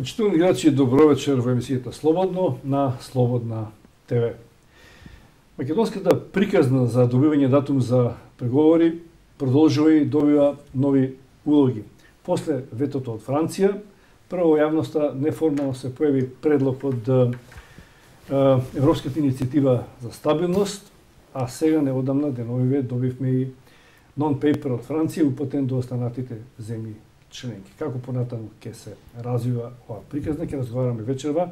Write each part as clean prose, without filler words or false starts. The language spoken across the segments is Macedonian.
Почитувани гледачи, добро вечер во емисијата Слободно на Слободна ТВ. Македонската приказна за добивање датум за преговори продолжува и добива нови улоги. После ветото од Франција, прво во јавноста неформално се појави предлог од Европската иницијатива за стабилност, а сега неодамна деновиве добивме и нон-пейпер од Франција упатен до останатите земји членки. Како понатаму ќе се развива ова приказна, ќе разговараме вечерва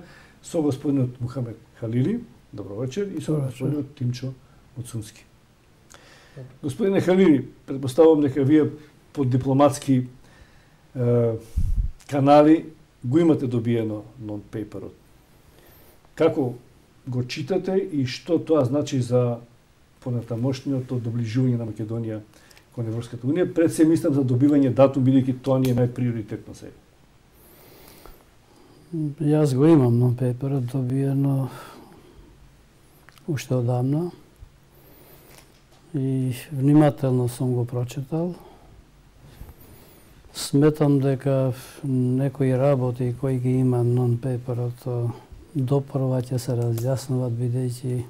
со господинот Мухамед Халили, добро вечер, и со господинот Тимчо Муцунски. Господине Халили, предпоставувам дека вие по дипломатски канали го имате добиено нон-пейперот. Како го читате и што тоа значи за понатамошниот доближување на Македонија кон Европската унија? Пред се мислам за добивање датум, бидејќи тоа ни е најприоритетно сега. Јас го имам нон-пейперот добиено уште одамна и внимателно сум го прочитал. Сметам дека некои работи кои ги има нон-пейперот допрва ќе се разјаснуваат, бидејќи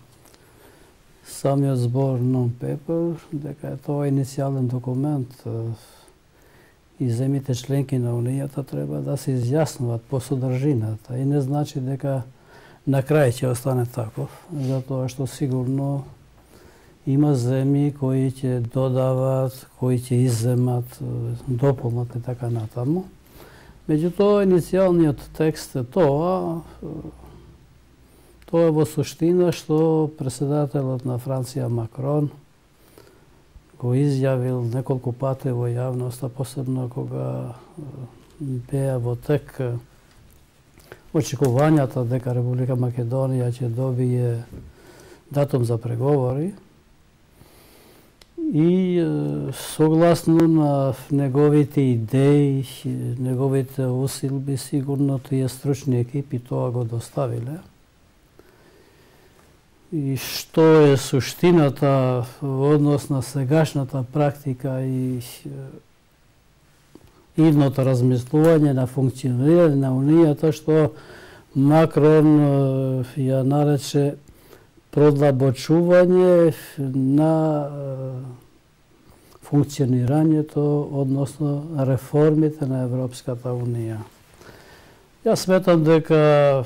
самиот збор нон-пейпер, дека е тоа иницијален документ и земите членки на Унијата треба да се изјаснуваат по содржината и не значи дека на крај ќе остане таков, затоа што сигурно има земји кои ќе додават, кои ќе изземат, дополнат и така натаму. Меѓутоа, иницијалниот текст е тоа е во суштина што председателот на Франција Макрон го изјавил неколку пати во јавноста, посебно кога беа во тек очекувањата дека Република Македонија ќе добие датум за преговори и согласно на неговите идеи, неговите усилби, сигурно тие стручни екипи тоа го доставиле. И што е суштината во однос на сегашната практика и идното размислување на функционирање на Унијата, што Макрон ја нарече продлабочување на функционирањето, односно реформите на Европската Унија. Јас сметам дека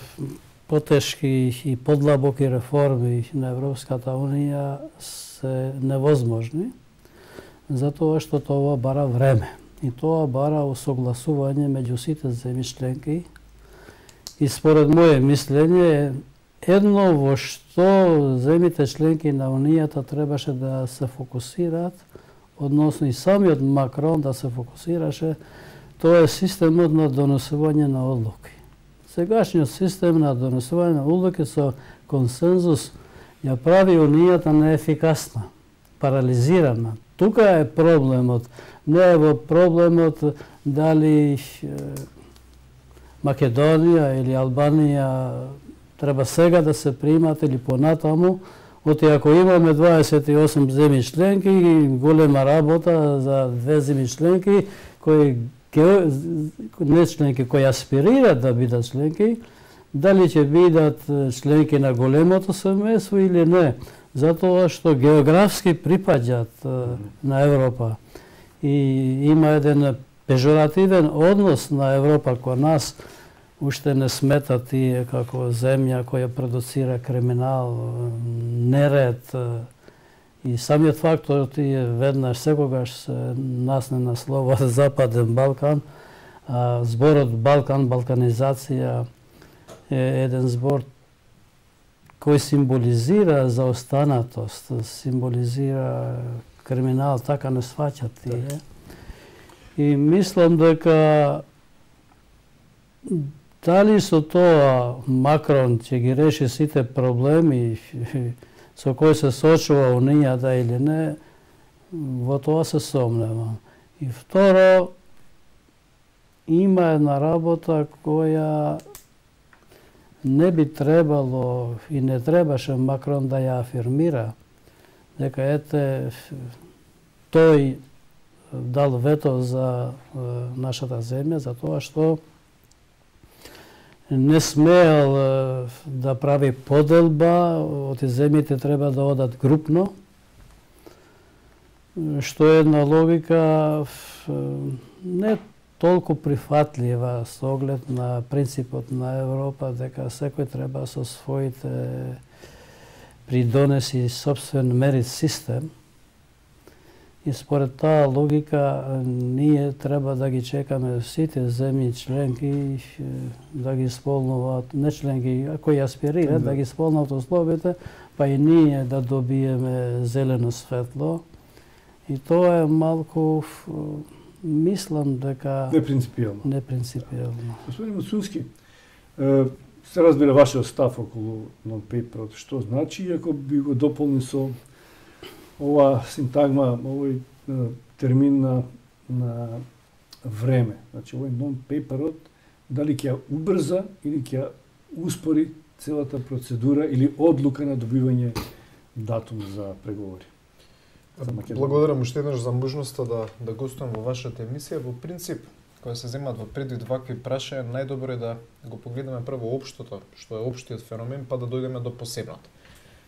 потешки и подлабоки реформи на Европската Унија се невозможни, затоа што тоа бара време. И тоа бара усогласување меѓу сите земји членки. И според моје мислење, едно во што земјите членки на Унијата требаше да се фокусираат, односно и самиот Макрон да се фокусираше, тоа е системот на донесување на одлуки. Сегашниот систем на донесување на одлуки со консензус ја прави Унијата неефикасна, парализирана. Тука е проблемот. Не е во проблемот дали Македонија или Албанија треба сега да се примат или понатаму, оти ако имаме 28 земји членки, голема работа за две земји членки кои не членки кои аспирираат да бидат членки, дали ќе бидат членки на големото семејство или не, затоа што географски припаѓаат на Европа и има еден пежоративен однос на Европа кон нас, уште не смета тие како земја која продуцира криминал, неред и самиот фактор тие веднаш секогаш се насне на слово Западен Балкан, зборот Балкан, балканизација е еден збор кој символизира заостанатост, символизира криминал, така не сваќат тие. И мислам дека дали со тоа Макрон ќе ги реши сите проблеми со кои се соочува Унијата или не, во тоа се сомневам. И второ, има една работа која не би требало и не требаше Макрон да ја афирмира, дека ете тој дал вето за нашата земја, за тоа што не смеел да прави поделба, оти земјите треба да одат групно, што е една логика не толку прифатлива со оглед на принципот на Европа, дека секој треба со своите придонеси собствен мерит систем. И според таа логика, ние треба да ги чекаме сите земји членки да ги исполнуваат, не членки, кои аспирираат, да ги исполнуваат условите, па и ние да добиеме зелено светло. И тоа е малку, мислам дека... Непринципијално. Непринципијално. Господин Мацунски, се разбира вашиот став околу non-paperот, што значи, ако би го дополни со ова синтагма, овој термин на време. Значи, овој non-paperот, дали ќе убрза или ќе успори целата процедура или одлука на добивање датум за преговори. Благодарам уште еднаш за можноста да гостувам во вашата емисија. Во принцип, кога се земаат во предвид вакви прашања, најдобро е да го погледаме прво општото, што е општиот феномен, па да дојдеме до посебното.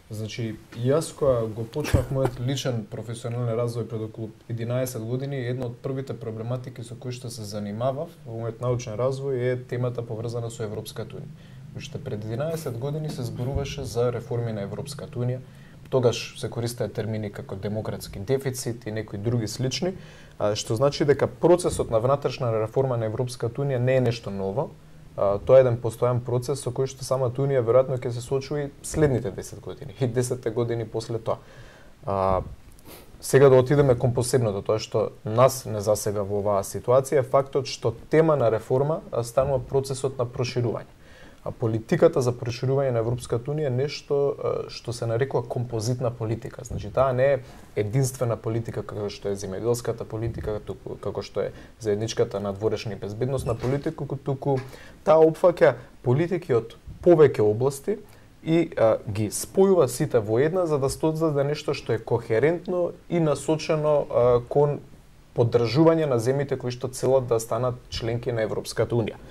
Значи, јас кога го почнав мојот личен професионален развој пред околу 11 години, една од првите проблематики со кои што се занимавав во мојот научен развој е темата поврзана со Европската унија. Уште пред 11 години се зборуваше за реформи на Европската унија. Тогаш се користеа термини како демократски дефицит и некои други слични, што значи дека процесот на внатрешна реформа на Европската унија не е нешто ново. Тоа е еден постојан процес со кој што самата Унија веројатно ќе се соочи следните 10 години и 10 години после тоа. Сега да отидеме кон посебното, тоа што нас не засега во оваа ситуација е фактот што тема на реформа станува процесот на проширување. Политиката за проширување на Европската унија е нешто што се нарекува композитна политика. Значи, таа не е единствена политика како што е земјоделската политика, како што е заедничката надворешна и безбедносна политика, туку таа опфаќа политики од повеќе области и ги спојува сите во една за да создаде нешто што е кохерентно и насочено кон поддржување на земјите кои што целат да станат членки на Европската унија.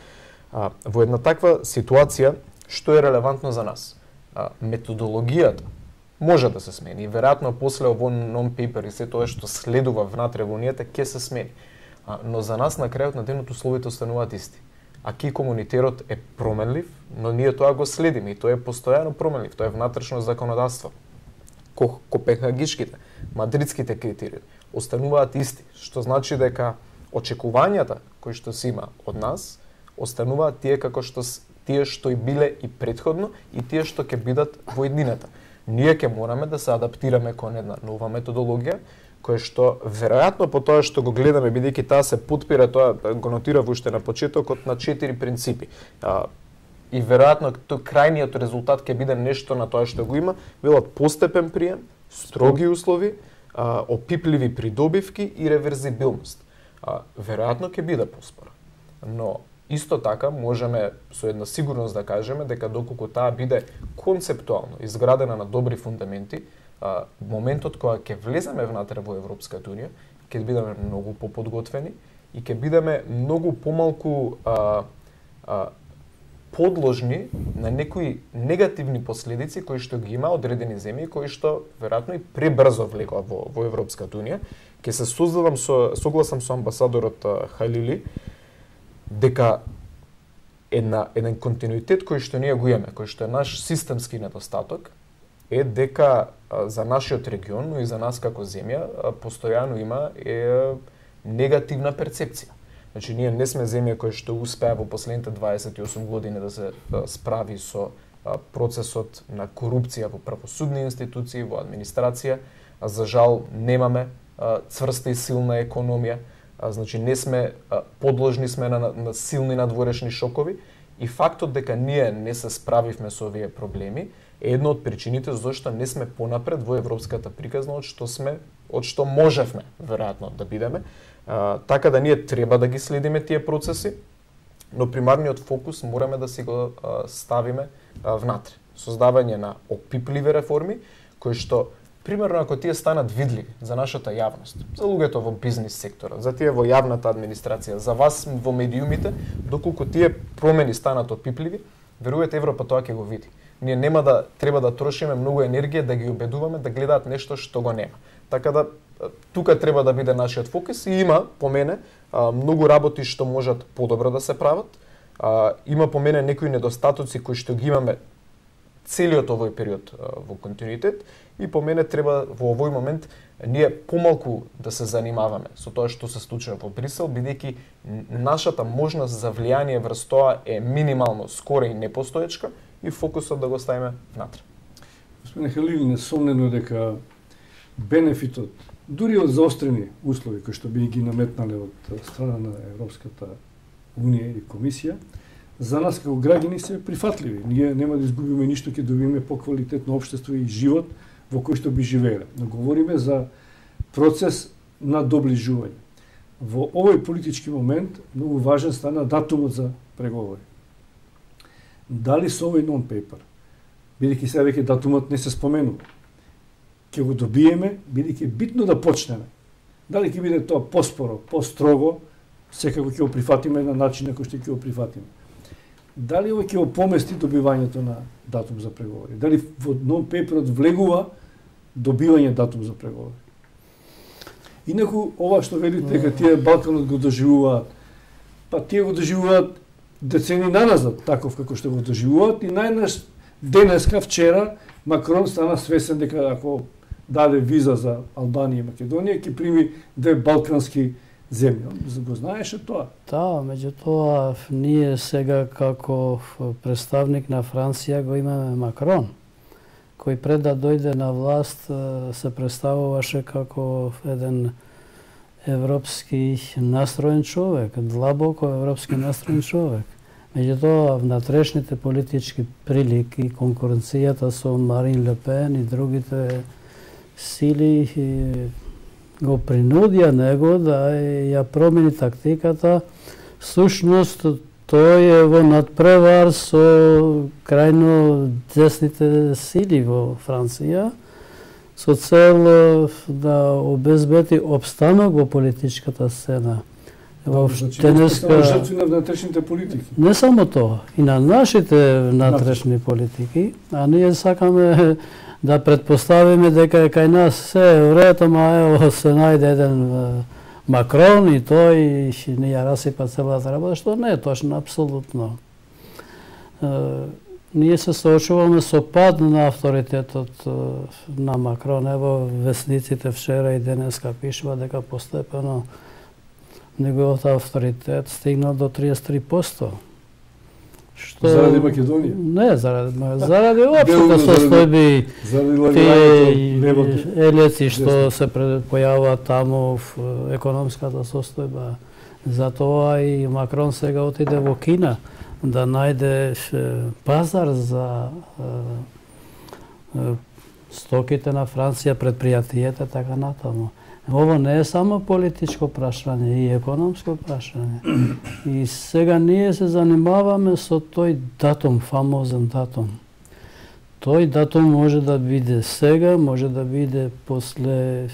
Во една таква ситуација, што е релевантно за нас? Методологијата може да се смени и веројатно после овој non-paper и се тоа што следува внатре во унијата ќе се смени. Но за нас на крајот на денот условите остануваат исти. Аки комунитерот е променлив, но ние тоа го следиме и тоа е постојано променлив, тоа е внатрешно законодавство. Копенхагишките, мадридските критерии остануваат исти, што значи дека очекувањата кои што се има од нас остануваат тие како што тие што и биле и претходно и тие што ќе бидат во иднината. Ние ќе мораме да се адаптираме кон една нова методологија која што веројатно по тоа што го гледаме бидејќи таа се потпира, тоа го нотирав уште на почетокот на 4 принципи. И веројатно тој крајниот резултат ќе биде нешто на тоа што го има, велат постепен прием, строги услови, опипливи придобивки и реверзибилност. Веројатно ќе биде поспора. Но исто така можеме со една сигурност да кажеме дека доколку таа биде концептуално изградена на добри фундаменти, моментот кога ќе влеземе внатре во Европската унија, ќе бидеме многу поподготвени и ќе бидеме многу помалку подложни на некои негативни последици кои што ги има одредени земји кои што веројатно и пребрзо влегоа во Европската унија. Ќе се согласам со амбасадорот Халили дека еден континуитет кој што ние го имаме, кој што е наш системски недостаток, е дека за нашиот регион, но и за нас како земја, постојано има негативна перцепција. Значи, ние не сме земја која што успеа во последните 28 години да се справи со процесот на корупција во правосудни институции, во администрација. За жал, немаме цврста и силна економија. Значи, не сме подложни сме на силни надворешни шокови и фактот дека ние не се справивме со овие проблеми е една од причините зашто не сме понапред во европската приказна од што можевме веројатно да бидеме. Така да ние треба да ги следиме тие процеси, но примарниот фокус мораме да си го ставиме внатре. Создавање на опипливи реформи кои што примерно ако тие станат видливи за нашата јавност, за луѓето во бизнис секторот, за тие во јавната администрација, за вас во медиумите, доколку тие промени станат опипливи, верувате Европа тоа ќе го види. Ние нема да треба да трошиме многу енергија да ги убедуваме да гледаат нешто што го нема. Така да тука треба да биде нашиот фокус и има по мене многу работи што можат подобро да се прават. Има по мене некои недостатоци кои што ги имаме целиот овој период во континуитет и по мене треба во овој момент ние помалку да се занимаваме со тоа што се случува во Брисел, бидејќи нашата можност за влијание врз тоа е минимално скора и непостоечка и фокусот да го ставиме внатре. Господине Халил, несомнено дека бенефитот, дури од заострени услови кои што би ги наметнале од страна на Европската Унија и Комисија, за нас како граѓани се прифатливи. Ние нема да изгубиме ништо, ќе добиеме поквалитетно општество и живот во кој што би живееле. Но говориме за процес на доближување. Во овој политички момент многу важен стана датумот за преговори. Дали со овој non-paper, бидејќи сега веќе датумот не се споменува, ќе го добиеме, бидејќи битно да почнеме. Дали ќе биде тоа поспоро, построго, секако ќе го прифатиме на начин на кој што ќе го прифатиме. Дали овој ќе опомести добивањето на датум за преговори? Дали во non-paperот влегува добивање датум за преговори? Инаку, ова што велите дека тие Балканот го доживуваат, па тие го доживуваат децени наназад, таков како што го доживуваат и најнаш денеска, вчера, Макрон стана свесен дека ако даде виза за Албанија и Македонија, ќе прими две балкански земји. Го знаеше тоа? Да, меѓутоа ние сега како представник на Франција го имаме Макрон, кој пред да дојде на власт се представуваше како еден европски настроен човек, длабоко европски настроен човек. Меѓутоа, внатрешните политички прилики, конкуренцијата со Марин Ле Пен и другите сили го принудија него да ја промени тактиката. Всушност, тој е во надпревар со крајно десните сили во Франција, со цел да обезбеди обстанок во политичката сцена. Денеска жртви на внатрешните политики. Не само тоа, и на нашите внатрешни политики, а ние сакаме да предпоставиме дека кај нас се врето, ево се најде еден Макрон и тој не ја расипа целата работа, што не е точно, апсолутно. Ние се соочуваме со пад на авторитетот на Макрон. Ево весниците вчера и денеска пишува дека постепено неговиот авторитет стигнал до 33%. Што... Заради Македонија? Не, заради општата состојби, тие елеци што се појавуваат таму в економската состојба. Затоа и Макрон сега отиде во Кина да најде пазар за стоките на Франција, предпријатијата, така натаму. Ово не е само политичко прашање, и економско прашање. И сега ние се занимаваме со тој датум, фамозен датум. Тој датум може да биде сега, може да биде после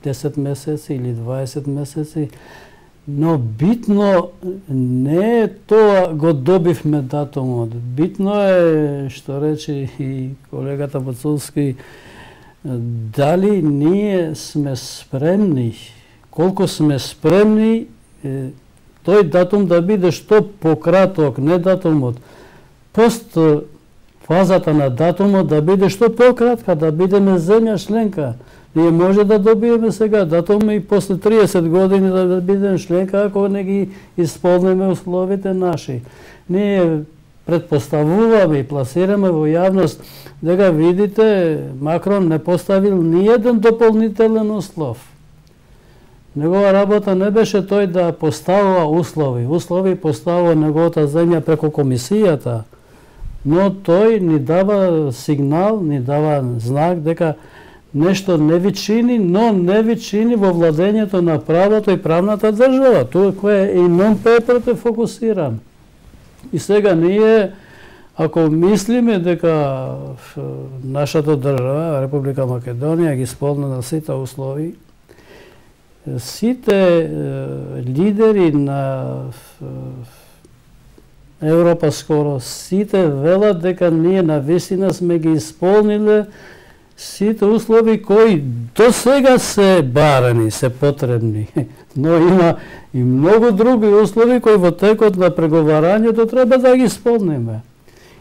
10 месеци или 20 месеци, но битно не е тоа го добивме датумот. Битно е, што рече и колегата Бацулски, дали ние сме спремни, колку сме спремни тој датум да биде што пократок, не датумот, пост фазата на датумот да биде што пократка, да бидеме земја членка. Ние може да добиеме сега датум и после 30 години да бидеме членка ако не ги исполниме условите наши. Ние предпоставуваме и пласираме во јавност дека видите Макрон не поставил ни еден дополнителен услов. Негова работа не беше тој да поставува услови. Услови поставува неговата земја преку комисијата, но тој ни дава сигнал, ни дава знак дека нешто не ви чини, но не ви чини во владењето на правото и правната држава. Тоа кое и non-paper е фокусиран. И сега ние, Ако мислиме дека нашата држава, Република Македонија, ги исполнила сите услови, сите лидери на Европа скоро, сите велат дека ние навистина сме ги исполниле сите услови кои до сега се барани, се потребни. Но има и многу други услови кои во текот на преговарањето треба да ги исполниме.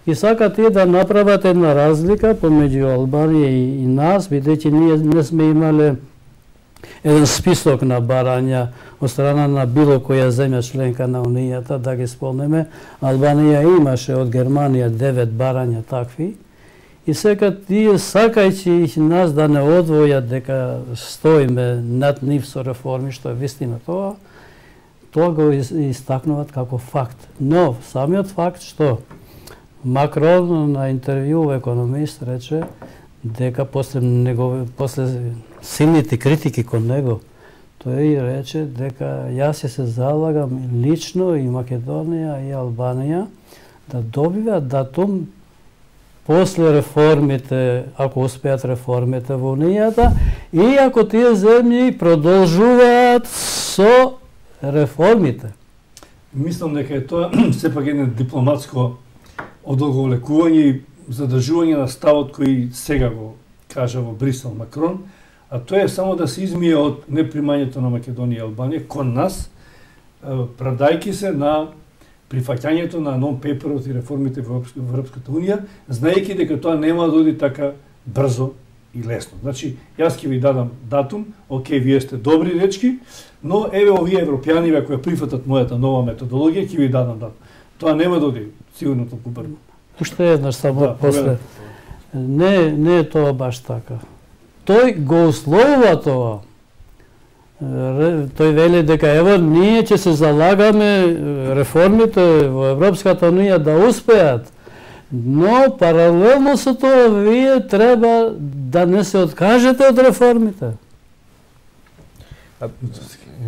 И сакат тие да направат една разлика помеѓу Албанија и нас, бидејќи ние не сме имале еден список на барања од страна на било која земја членка на Унијата да ги исполниме. Албанија имаше од Германија 9 барања такви. И сега тие сакајќи нас да не одвојат дека стоиме над нив со реформи, што е вистина тоа го истакнуваат како факт. Но самиот факт што Макрон на интервју во Економист рече дека после силните критики кон него, тој рече дека јас се залагам лично и Македонија и Албанија да добиват датум после реформите, ако успеат реформите во Унијата, и ако тие земји продолжуваат со реформите. Мислам дека е тоа сепак едно дипломатско одолговлекување и задржување на ставот кој сега го кажа во Брисел Макрон, а тоа е само да се измие од непримањето на Македонија и Албанија кон нас, правдајќи се на прифаќањето на нон-пейперот и реформите во Европската Унија, знаејќи дека тоа нема да оди така брзо и лесно. Значи, јас ќе ви дадам датум, окей, вие сте добри дечки, но еве овие европјани кои прифатат мојата нова методологија, ќе ви дадам датум. Тоа нема да оди сигурно толку брзо. Уште еднаш само после. Не е тоа баш така. Тој го условува тоа. Тој вели дека ево ние ќе се залагаме реформите во Европската Унија да успеат, но паралелно со тоа вие треба да не се откажете од реформите.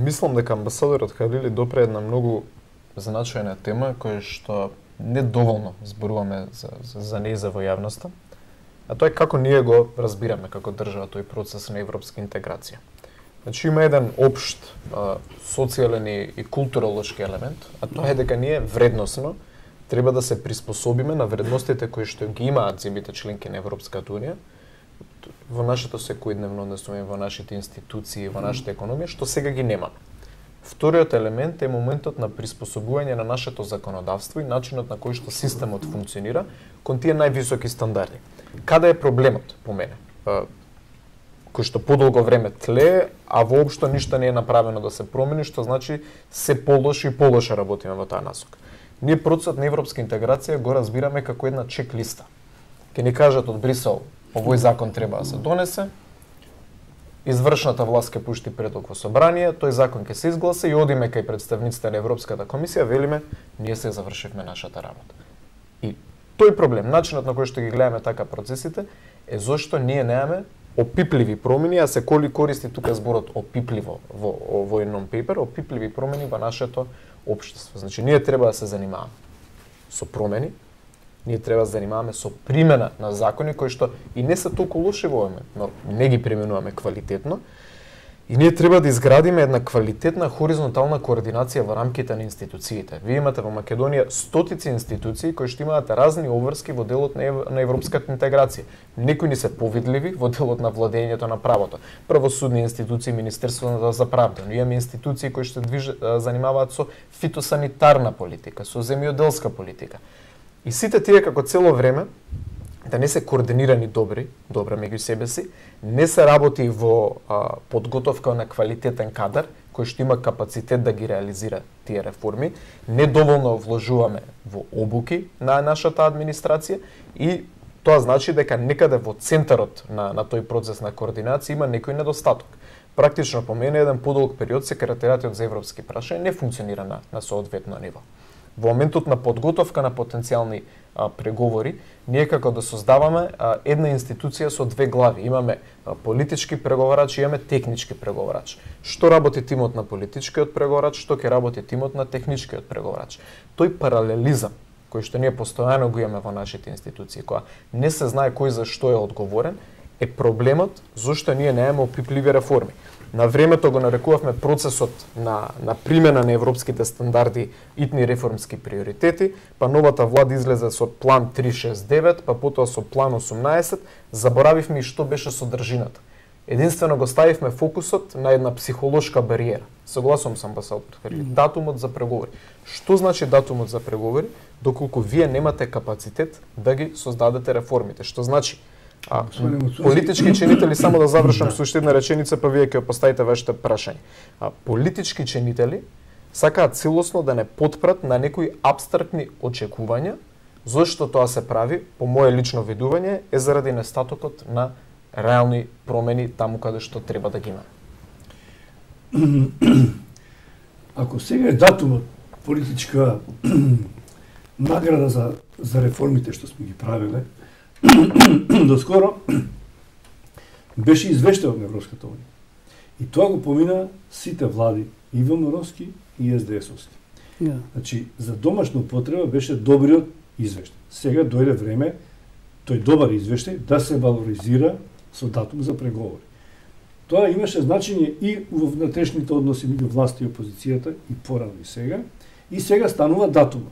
Мислам дека амбасадорот Халили допре една многу значајна тема која што не доволно зборуваме за нејза во јавноста, а тоа е како ние го разбираме како држава тој процес на европска интеграција. Значи има еден општ социјален и културолошки елемент, а тоа е дека ние вредносно треба да се приспособиме на вредностите кои што ги имаат земјите членки на Европската Унија во нашето секојдневно однесување, во нашите институции, во нашата економија, што сега ги нема. Вториот елемент е моментот на приспособување на нашето законодавство и начинот на кој што системот функционира кон тие највисоки стандарди. Каде е проблемот по мене? Кој што подолго време тлее, а воопшто ништо не е направено да се промени, што значи се полоши и полоше работиме во таа насока. Ние процесот на европска интеграција го разбираме како една чек-листа. Ке ни кажат од Брисел, овој закон треба да се донесе, извршната власт ке пушти предлог во собрание, тој закон ке се изгласа и одиме кај представниците на Европската комисија, велиме, ние се завршивме нашата работа. И тој проблем, начинот на кој што ги гледаме така процесите, е зошто ние немаме опипливи промени, а се коли користи тука зборот опипливо во овој нон-пейпер, опипливи промени во нашето општество. Значи, ние треба да се занимаваме со промени, ние треба да се занимаваме со примена на закони кои што и не се толку лоши во овој, но не ги применуваме квалитетно. И ние треба да изградиме една квалитетна хоризонтална координација во рамките на институциите. Вие имате во Македонија стотици институции кои што имаат разни обврски во делот на европската интеграција. Некои ни се повидливи во делот на владењето на правото. Правосудни институции, Министерството за правда, но имаме институции кои што занимаваат со фитосанитарна политика, со земјоделска политика. И сите тие како цело време да не се координирани добро меѓу себе си, не се работи во подготовка на квалитетен кадар, кој што има капацитет да ги реализира тие реформи, недоволно вложуваме во обуки на нашата администрација и тоа значи дека некаде во центарот на тој процес на координација има некој недостаток. Практично по мене еден подолг период секретаријатот за европски прашања не функционира на соодветно ниво. Во моментот на подготовка на потенцијални преговори, ние како да создаваме една институција со две глави. Имаме политички преговарач и имаме технички преговарач. Што работи тимот на политичкиот преговарач, што ќе работи тимот на техничкиот преговарач. Тој паралелизам кој што ние постојано го имаме во нашите институции, која не се знае кој за што е одговорен, е проблемот зошто ние немаме опипливи реформи. На времето го нарекувавме процесот на примена на европските стандарди итни реформски приоритети, па новата влада излезе со план 369, па потоа со план 18, заборавивме и што беше содржината. Единствено го ставивме фокусот на една психолошка бариера. Согласувам со амбасадор Ферли. Датумот за преговори. Што значи датумот за преговори, доколку вие немате капацитет да ги создадете реформите? Што значи? Политички чинители, само да завршам со уште една реченица, па вие ќе поставите вашите прашања. Политички чинители сакаат целосно да не потпрат на некои абстрактни очекувања, зашто тоа се прави, по мое лично видување, е заради нестатокот на реални промени таму каде што треба да ги има. Ако сега е датумот политичка награда за реформите што сме ги правиле, доскоро беше извештен од Европската унија. И тоа го помина сите влади, и ВМРО-ски и СДС-овски. Значи, за домашна употреба беше добриот извештај. Сега дојде време тој добар извештај да се валоризира со датум за преговори. Тоа имаше значење и во внатрешните односи меѓу власт и опозицијата и порано и сега. И сега станува датумот.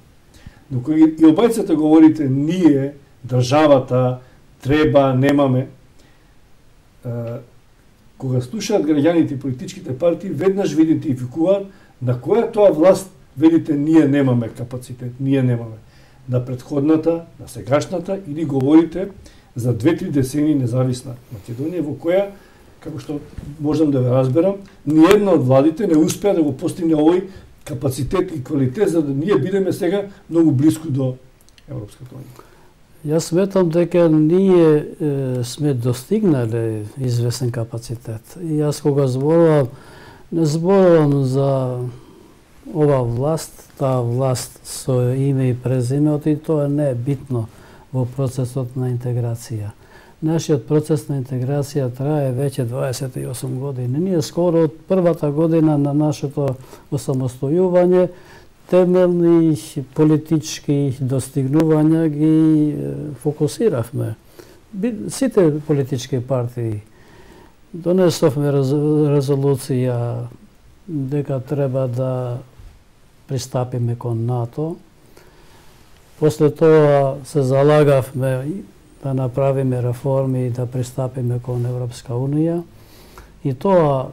Но кој и обајцата говорите ние, државата, треба, немаме, кога слушаат граѓаните и политичките партии, веднаш ви идентификуваат на која тоа власт велите ние немаме капацитет, ние немаме. На претходната, на сегашната, или говорите за 2-3 децени независна Македонија, во која, како што можам да ве разберам, ниедна од владите не успеа да го постигне овој капацитет и квалитет, за да ние бидеме сега многу близко до Европската унија. Јас сметам дека ние сме достигнале известен капацитет. И јас кога зборувам, не зборувам за ова власт, таа власт со име и презиме, и тоа не е битно во процесот на интеграција. Нашиот процес на интеграција трае веќе 28 години. Ние скоро од првата година на нашето осамостојување темелни политички достигнувања ги фокусиравме. Сите политички партии донесовме резолуција дека треба да пристапиме кон НАТО. После тоа се залагавме да направиме реформи и да пристапиме кон Европска унија. И тоа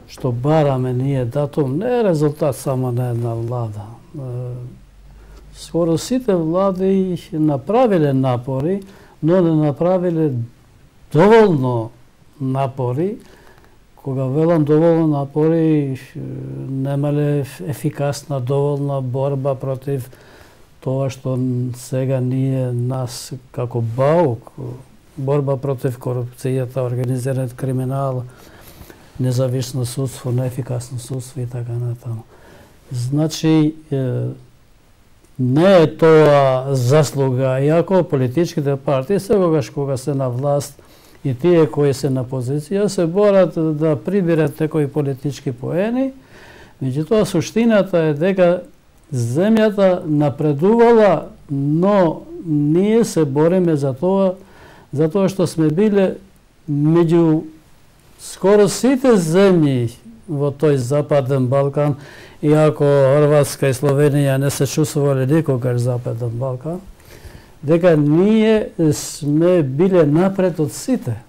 што бараме ние датум не е резултат само на една влада. Скоро сите влади направиле напори, но не направиле доволно напори. Кога велам доволно напори, немале ефикасна доволна борба против тоа што сега ние нас како БАУК, борба против корупцијата, организираниот криминал, независно судство, неефикасно судство и така натаму. Значи, не е тоа заслуга, иако политичките партии секогаш кога се на власт и тие кои се на позиција се борат да приберат некои политички поени, меѓутоа суштината е дека земјата напредувала, но ние се бориме за тоа, затоа што сме биле меѓу скоро сите земји во тој Западен Балкан, иако Хрватска и Словенија не се чувствувале никогаш Западен Балкан, дека ние сме биле напред од сите.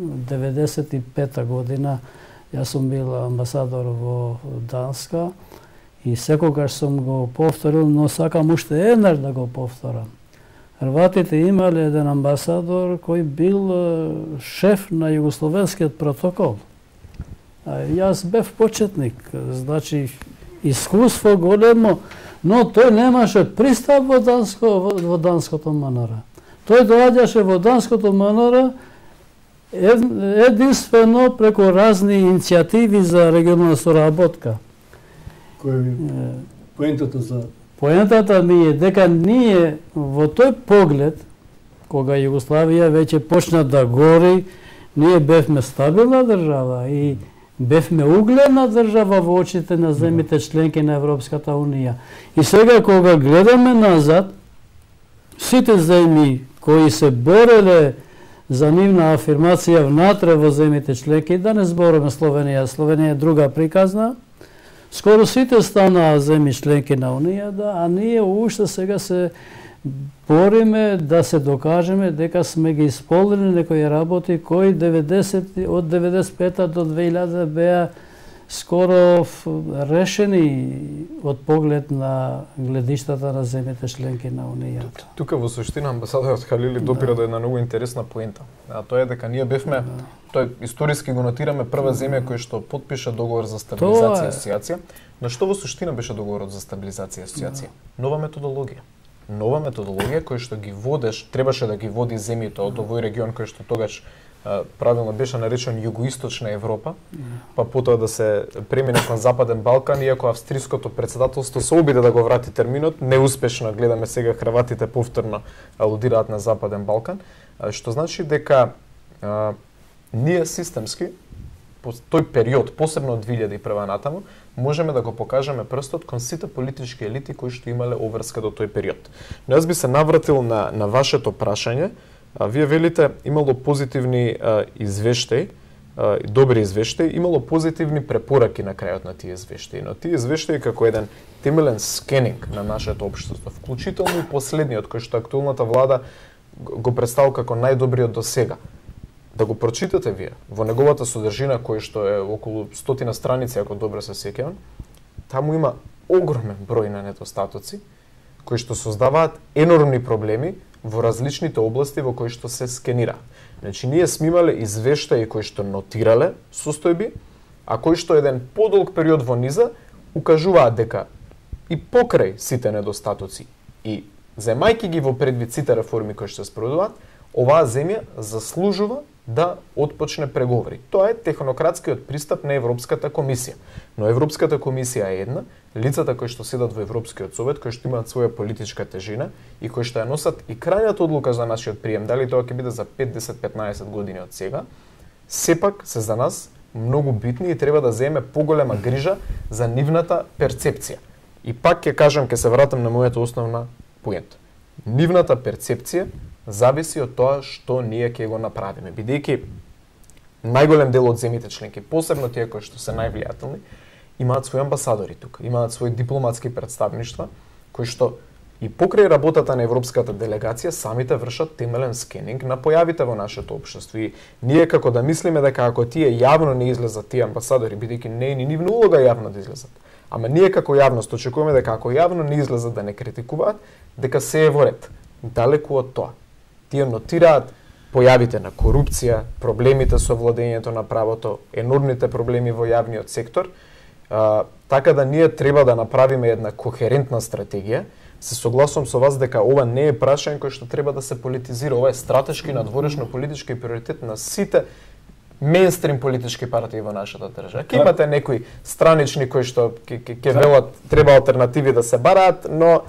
95-та година јас сум бил амбасадор во Данска и секогаш сум го повторил, но сакам уште еднаш да го повторам. Хрватите имале еден амбасадор кој бил шеф на Југословенскиот протокол. Јас бев почетник, значи искуство големо, но тој немаше пристап во Данското МНР. Тој доаѓаше во Данското МНР единствено преку разни иницијативи за регионална соработка. Поентата ми е дека ние во тој поглед, кога Југославија веќе почна да гори, ние бевме стабилна држава и бевме угледна држава во очите на земјите членки на Европската унија. И сега кога гледаме назад, сите земји кои се бореле за нивна афирмација внатре во земјите членки, да не збориме Словенија, Словенија е друга приказна, скоро сите станаа земји членки на Унијата, а ние уште сега се бориме да се докажеме дека сме ги исполнили некои работи кои од 95 до 2000 беа скоро решени од поглед на гледиштата на земјите членки на Унијата. Тука во суштина амбасадорот Халили допира до една многу интересна поента. А тоа е дека ние бевме, тој историски го нотираме прва земја која што потпиша договор за стабилизација и асоциација. На што во суштина беше договорот за стабилизација и асоциација? Нова методологија. Нова методологија која што ги требаше да ги води земјите од овој регион кој што тогаш правилно беше наречен Југоисточна Европа, па потоа да се премине кон Западен Балкан, иако австриското председателство се обиде да го врати терминот, неуспешно гледаме сега хрватите повторно алудираат на Западен Балкан, што значи дека ние системски по тој период, посебно од 2001 натаму, можеме да го покажеме прстот кон сите политички елити кои што имале обврска до тој период. Но јас би се навратил на вашето прашање. Вие велите имало позитивни извештаи, добри извештаи, имало позитивни препораки на крајот на тие извештаи, но тие извештаи како еден темелен скенинг на нашето општество, вклучително и последниот кој што актуелната влада го представил како најдобриот до сега. Да го прочитате вие во неговата содржина кој што е околу 100 страници, ако добро се сеќавам, таму има огромен број на недостатоци кои што создаваат енормни проблеми во различните области во кои што се скенира. Значи, ние сме имале извештаи кои што нотирале состојби, а кои што еден подолг период во низа укажуваат дека и покрај сите недостатоци и земајќи ги во предвид сите реформи кои што се спроведуваат, оваа земја заслужува да отпочне преговори. Тоа е технократскиот пристап на Европската комисија. Но Европската комисија е една, лицата кои што седат во Европскиот совет, кои што имаат своја политичка тежина и кои што ја носат и крајната одлука за нашиот прием, дали тоа ќе биде за 5, 10, 15 години од сега, сепак се за нас многу битни и треба да земе поголема грижа за нивната перцепција. И пак ќе кажам, ќе се вратам на мојата основна поента. Нивната перцепција зависи од тоа што ние ќе го направиме, бидејќи најголем дел од земјите членки, посебно тие кои што се највлијателни, имаат своји амбасадори тука, имаат своји дипломатски представништва, кои што и покрај работата на европската делегација самите вршат темелен скенинг на појавите во нашето општество. И ние како да мислиме дека ако тие јавно не излезат тие амбасадори, бидејќи не е ни нивна улога јавно да излезат, ама ние како јавност очекуваме дека ако јавно не излезат да не критикуваат, дека се е во ред. Далеку од тоа. Тие нотираат појавите на корупција, проблемите со владењето на правото, енормните проблеми во јавниот сектор, така да ние треба да направиме една кохерентна стратегија. Се согласувам со вас дека ова не е прашање кој што треба да се политизира, ова е стратешки надворешно политички приоритет на сите мејнстрим политички партии во нашата држава. Ке имате некои странични кои што ќе велат треба алтернативи да се бараат, но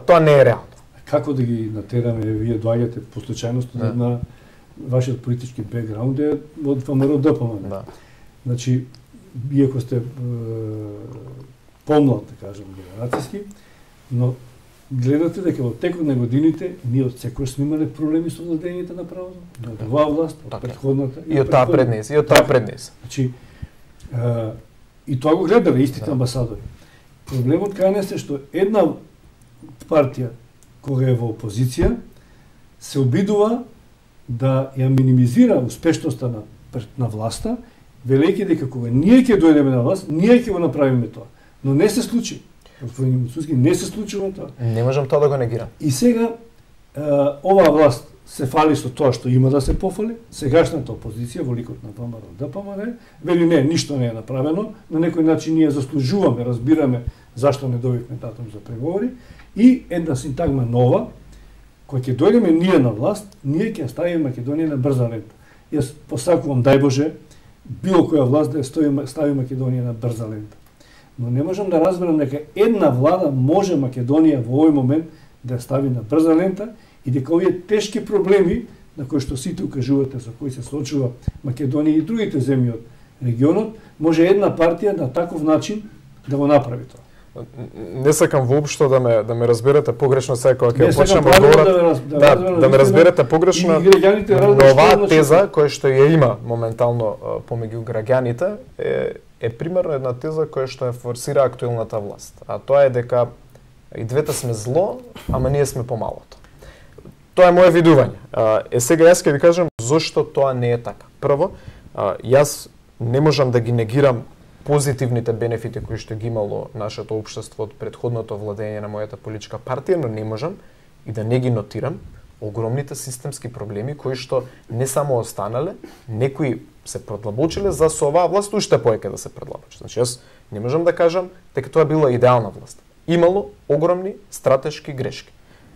тоа не е реално. Како да ги натераме, вие доаѓате по случајност на вашиот политички бекграунд е од ВМРО ДПМН. Да. Значи, иако сте помлад, да кажем, генерацијски, но гледате дека во текот на годините ние од секој сме имале проблеми со владењето на правото, од оваа власт, од претходната и од таа пред нас, и од таа пред нас. Значи, и тоа го гледале истите амбасадори. Проблемот кај нас е што една партија кога е во опозиција се обидува да ја минимизира успешноста на власта, велејќи дека кога ние ќе дојдеме на власт, ние ќе го направиме тоа. Но не се случи. Господин Муцуски, не се случува тоа. Не можам тоа да го негирам. И сега оваа власт се фали со тоа што има да се пофали. Сегашната опозиција во ликот на ВМРО ДПМН вели не, ништо не е направено, на некој начин ние заслужуваме, разбираме зашто не добивме датум за преговори и една синтагма нова, кој ќе дојдеме ние на власт, ние ќе ставиме Македонија на брза лента. Јас посакувам, дај Боже, било која власт да ја стави Македонија на брза лента. Но не можам да разберам дека една влада може Македонија во овој момент да ја стави на брза лента и дека овие тешки проблеми на кои што сите укажувате со кои се соочува Македонија и другите земји од регионот, може една партија на таков начин да го направи тоа. не сакам воопшто да ме разберете погрешно сега кога ќе почнеме да ме разберете погрешно. Но оваа теза која што ја има моментално помеѓу граѓаните е примерно една теза која што ја форсира актуелната власт. А тоа е дека и двете сме зло, ама ние сме помалото. Тоа е моje видување. Сега јас ќе ви кажам зошто тоа не е така. Прво, јас не можам да ги негирам позитивните бенефити кои што ги имало нашето општество од претходното владење на мојата политичка партија, но не можам и да не ги нотирам огромните системски проблеми кои што не само останале, некои се продлабочиле за со оваа власт уште поеќе да се продлабочи. Значи јас не можам да кажам дека тоа била идеална власт. Имало огромни стратешки грешки.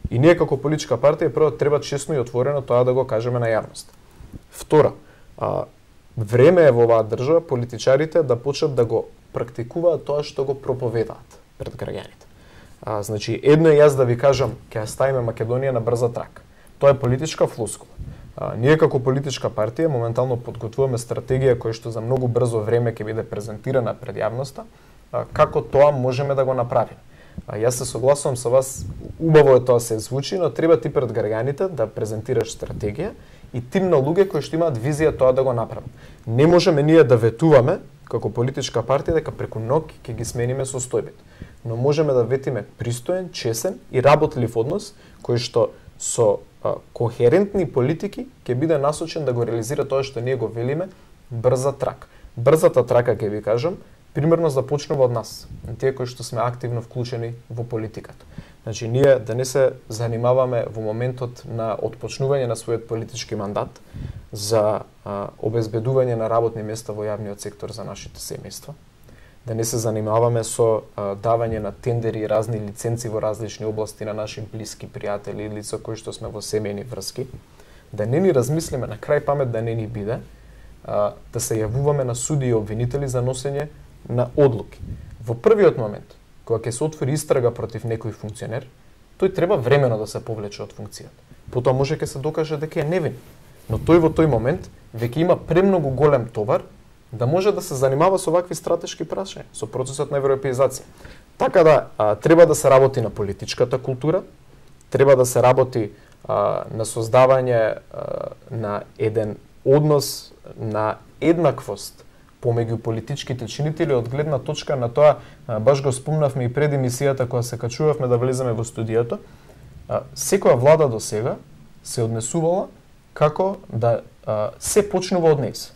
И ние како политичка партија прво треба честно и отворено тоа да го кажеме на јавност. Втора, време е во оваа држава политичарите да почнат да го практикуваат тоа што го проповедаат пред граѓаните. Значи, едно е јас да ви кажам ќе ја ставиме Македонија на брза трака. Тоа е политичка флоскула. Ние како политичка партија моментално подготвуваме стратегија која што за многу брзо време ќе биде презентирана пред јавноста, како тоа можеме да го направиме. Јас се согласувам со вас, убаво е тоа се звучи, но треба ти пред граѓаните да презентираш стратегија и тим на луѓе кои што имаат визија тоа да го направат. Не можеме ние да ветуваме како политичка партија дека преку ноќ ќе ги смениме состојбите, но можеме да ветиме пристоен, чесен и работлив однос кој што со кохерентни политики ќе биде насочен да го реализира тоа што ние го велиме брза трака. Брзата трака, ќе ви кажам, примерно започнува од нас, тие кои што сме активно вклучени во политиката. Значи, ние да не се занимаваме во моментот на отпочнување на својот политички мандат за обезбедување на работни места во јавниот сектор за нашите семејства, да не се занимаваме со давање на тендери и разни лиценци во различни области на наши блиски пријатели или лица кои што сме во семејни врски, да не ни размислиме, на крај памет да не ни биде, да се јавуваме на суди и обвинители за носење на одлуки. Во првиот момент, кога ќе се отвори истрага против некој функционер, тој треба времено да се повлече од функцијата. Потоа може ќе се докаже дека е невин, но тој во тој момент веќе има премногу голем товар да може да се занимава со вакви стратешки прашања, со процесот на европеизација. Така да треба да се работи на политичката култура, треба да се работи на создавање на еден однос на еднаквост помеѓу политичките чинители од гледна точка на тоа, баш го спомнавме и пред емисијата кога се качувавме да влеземе во студиото, секоја влада до сега се однесувала како да се почнува од нејс.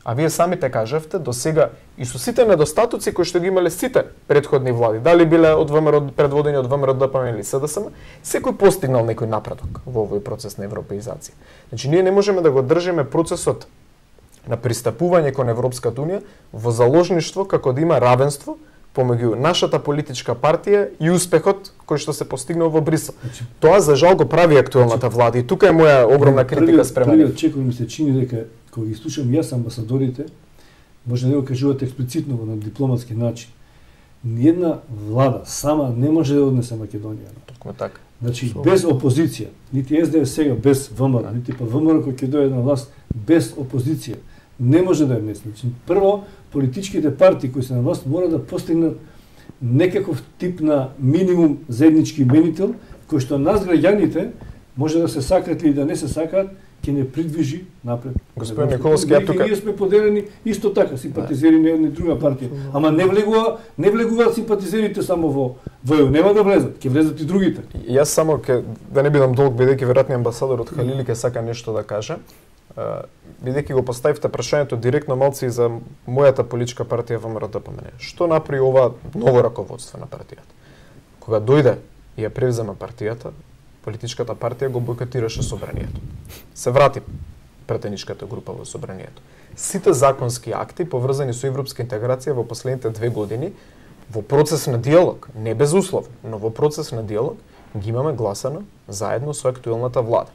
А вие самите кажавте, до сега и со сите недостатоци кои што ги имале сите предходни влади, дали биле од ВМРО, предводени од ВМРО, ДПМН или СДСМ, секој постигнал некој напредок во овој процес на европеизација. Значи, ние не можеме да го држиме процесот на пристапување кон Европската унија во заложништво како да има равенство помеѓу нашата политичка партија и успехот кој што се постигнал во Брисел. Тоа за жал го прави актуелната влада и тука е моја огромна критика спрема нив. Првиот чекор ми се чини дека кога ги слушам јас амбасадорите, може да го кажуваат експлицитно на дипломатски начин. Ниедна влада сама не може да однесе Македонија. Токму така. Значи без опозиција, нити СДС сега без ВМРО, нити па ВМРО кој ќе дојде на власт без опозиција, не може да ја внесе. Значи, прво, политичките партии кои се на власт мора да постигнат некаков тип на минимум заеднички именител, кој што нас граѓаните може да се сакат или да не се сакат, ќе не придвижи напред. Господин Николовски, ја тука ние сме поделени исто така симпатизери на една и друга партија, ама не влегуваат симпатизерите само во ЕУ, нема да влезат, ќе влезат и другите. Јас само да не бидам долг, бидејќи веројатно амбасадор од Халили ќе сака нешто да каже. Бидејќи го поставивте прашањето директно малци за мојата политичка партија ВМРО ДПМН. Што направи ова ново раководство на партијата? Кога дојде и ја превзема партијата, политичката партија го бойкотираше собранието. Се врати претеничката група во собранието. Сите законски акти поврзани со европска интеграција во последните 2 години во процес на диалог, не безусловно, но во процес на диалог ги имаме гласано заедно со актуелната влада.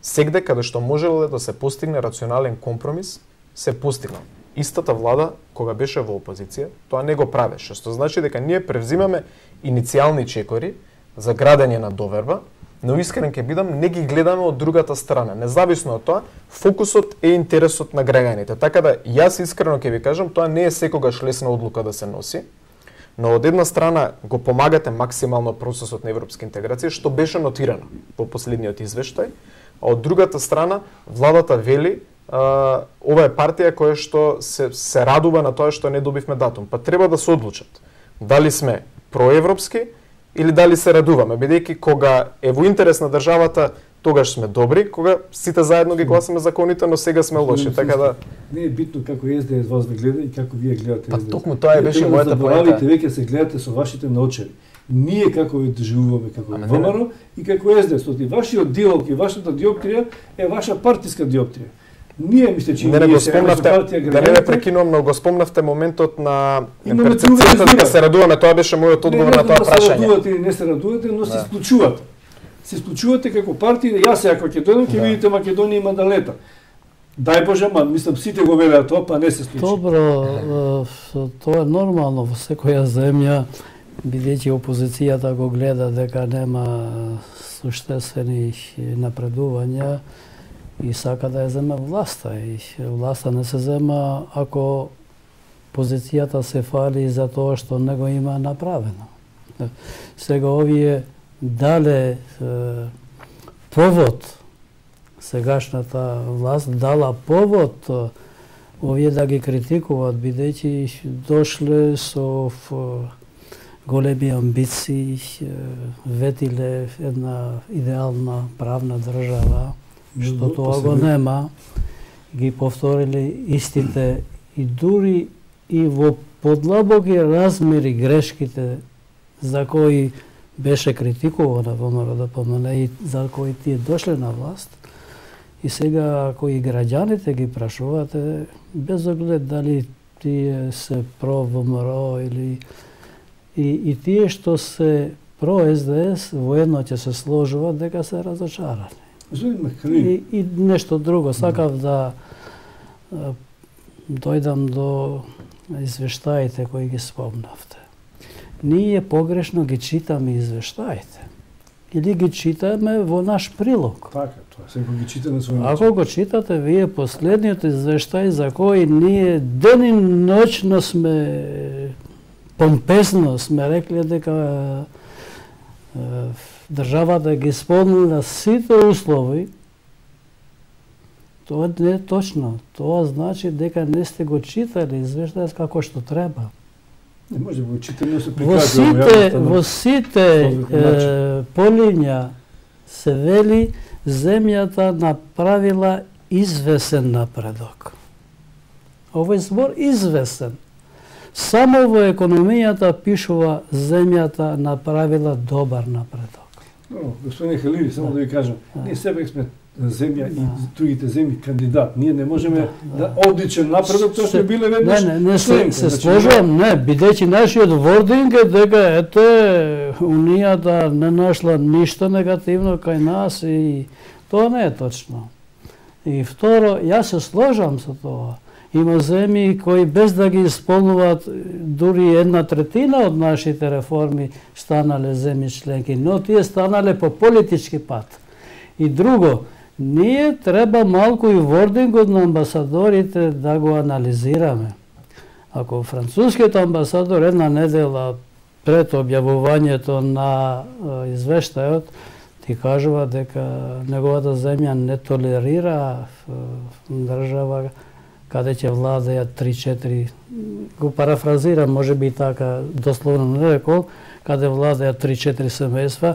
Сегде каде што можеле да се постигне рационален компромис, се постигнал. Истата влада, кога беше во опозиција, тоа не го правеше, што значи дека ние превзимаме иницијални чекори за градење на доверба, но искрен ќе бидам, не ги гледаме од другата страна. Независно од тоа, фокусот е интересот на граѓаните. Така да, јас искрено ќе ви кажам, тоа не е секогаш лесна одлука да се носи, Но од една страна го помагате максимално процесот на европска интеграција, што беше нотирано во последниот извештај, а од другата страна владата вели ова е партија која што се радува на тоа што не добивме датум. Па треба да се одлучат дали сме проевропски или дали се радуваме, бидејќи кога е во интерес на државата, тогаш сме добри, кога сите заедно ги гласаме законите, но сега сме лоши, така да не е битно како СДС вас ве гледа и како вие гледате СДС. Па токму тоа е беше мојата поента. Веќе се гледате со вашите наочари. Ние како ви доживуваме како ВМРО и како СДС, оти вашиот диалог и вашата диоптрија е ваша партиска диоптрија. Ние мисле че не го спомнавте, да не ме прекинувам, но го спомнавте моментот на перцепцијата дека се радуваме, тоа беше мојот одговор на тоа прашање. Не се радувате или не се радувате, но се исклучувате. Се исклучувате како партија, јас сега ќе дојдам, ќе видите Македонија има да лета. Дај Боже, мислам сите го велеа тоа, па не се случи. Добро, тоа е нормално во секоја земја, бидејќи опозицијата го гледа дека нема суштествени напредувања и сака да ја зема власта. И власта не се зема ако позицијата се фали за тоа што не го има направено. Сега овие дале повод, сегашната власт дала повод овие да ги критикуваат, бидејќи дошле со големи амбиции, ветиле една идеална правна држава, што тоа го нема, ги повторили истите и дури и во подлабоки размери грешките за кои беше критикувана во НДПМН и за кои тие дошле на власт. И сега, ако и граѓаните ги прашувате, без оглед дали тие се про ВМРО или и тие што се про СДС воедно ќе се сложуваат дека се разочарани. И нешто друго, сакав да дојдам до извештаите кои ги спомнавте. Ние погрешно ги читаме извештаите. Или ги читаме во наш прилог. Така, тоа секој ги чита на свој начин. Ако го читате вие последниот извештај за кој ние ден и ноќно сме помпесно сме рекле дека државата ги исполнила сите услови, тоа не е точно. Тоа значи дека не сте го читали извештајот како што треба. Не може да го читаме, се прикажува. Во сите полиња се вели земјата направила извесен напредок. Овој збор извесен. Само во економијата пишува земјата направила добар напредок. Господин Халири, само да ви кажам, ние себек сме земја и другите земји кандидат. Ние не можеме да одличен напредок, тоа што биле веднаш. Не, се сложувам, не, бидејќи нашиот вординг е дека ете Унијата не нашла ништо негативно кај нас и тоа не е точно. И второ, јас се сложам со тоа. Има земји кои без да ги исполнуваат дури 1/3 од нашите реформи станале земји членки, но тие станале по политички пат. И друго, ние треба малку и вордингот на амбасадорите да го анализираме. Ако францускиот амбасадор една недела пред објавувањето на извештајот ти кажува дека неговата земја не толерира држава каде ќе владеат 3-4, го парафразирам, може би така дословно не рекол, каде владеат 3-4 семејства,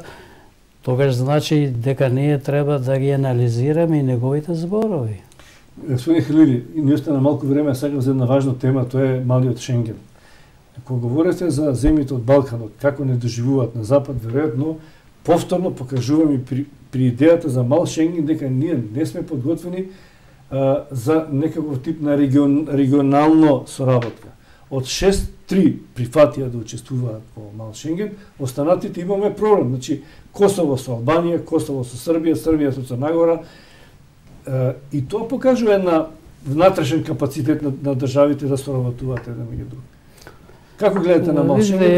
тогаш значи дека ние треба да ги анализираме и неговите зборови. Господин Халири, ни остана малку време, сакам за една важна тема, тоа е малиот Шенген. Кога говорите за земјите од Балканот, како не доживуваат на Запад, веројатно повторно покажуваме при идејата за мал Шенген дека ние не сме подготвени за некаков тип на регионално соработка. Од 6-3 прифатија да учествуваат во мал Шенген, останатите имаме проблем. Значи, Косово со Албанија, Косово со Србија, Србија со Црна Гора. И тоа покажува една внатрешен капацитет на државите да соработуваат еден меѓу друг. Како гледате на мал Шенген?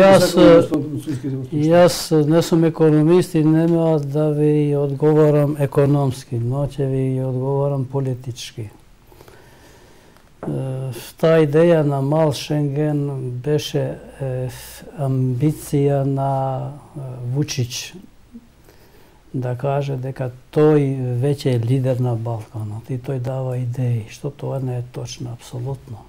Јас не сум економист и нема да ви одговорам економски, но ќе ви одговорам политички. Таа идеја на мал Шенген беше амбиција на Вучич да каже дека тој веќе е лидер на Балканот и тој дава идеи, што тоа не е точно, апсолутно.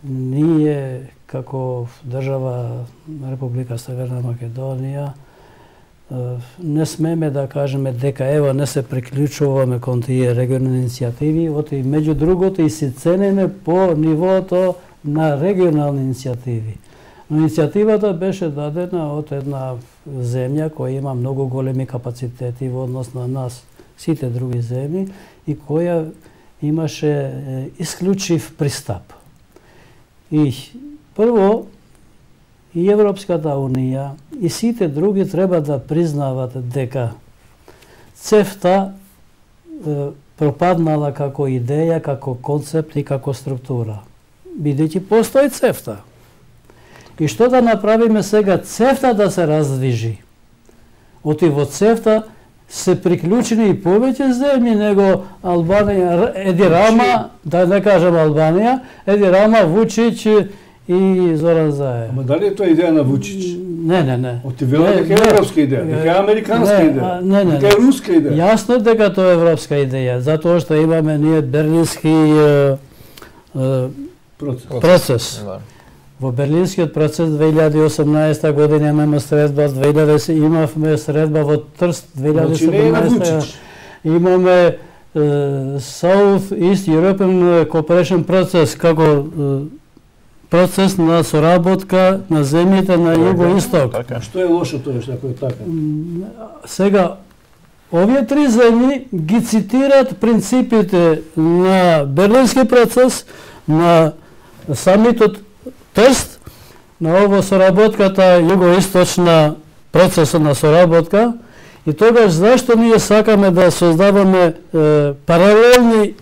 Ние, како држава Република Северна Македонија, не смеме да кажеме дека ево не се приклучуваме кон тие регионални иницијативи, оти меѓу другото и се ценеме по нивото на регионални иницијативи. Но иницијативата беше дадена од една земја која има многу големи капацитети во однос на нас, сите други земји, и која имаше исклучив пристап. И прво, и Европската Унија и сите други треба да признават дека ЦЕФТА пропаднала како идеја, како концепт и како структура. Бидејќи постои ЦЕФТА. И што да направиме сега ЦЕФТА да се раздвижи? Оти во ЦЕФТА се приклучени и повеќе земји него Албанија, Еди Рама, да не кажам Албанија, Еди Рама, Вучич и Зоран Заев. Ама дали е тоа идеја на Вучич? Не. Оти вела дека е европска идеја, дека е американска идеја, дека е руска идеја. Јасно дека тоа е европска идеја, затоа што имаме ние берлински процес. Во Берлинскиот процес 2018 година имаме средба, 2010 имавме средба во Трст 2017. Имаме South East European Cooperation процес како процес на соработка на земјите на југо-исток. Што е лошо тоа што е така? Сега овие три земји ги цитират принципите на Берлински процес, на самитот Трст, на ово соработката југо-источна процеса на соработка, и тогаш зашто ние сакаме да создаваме паралелни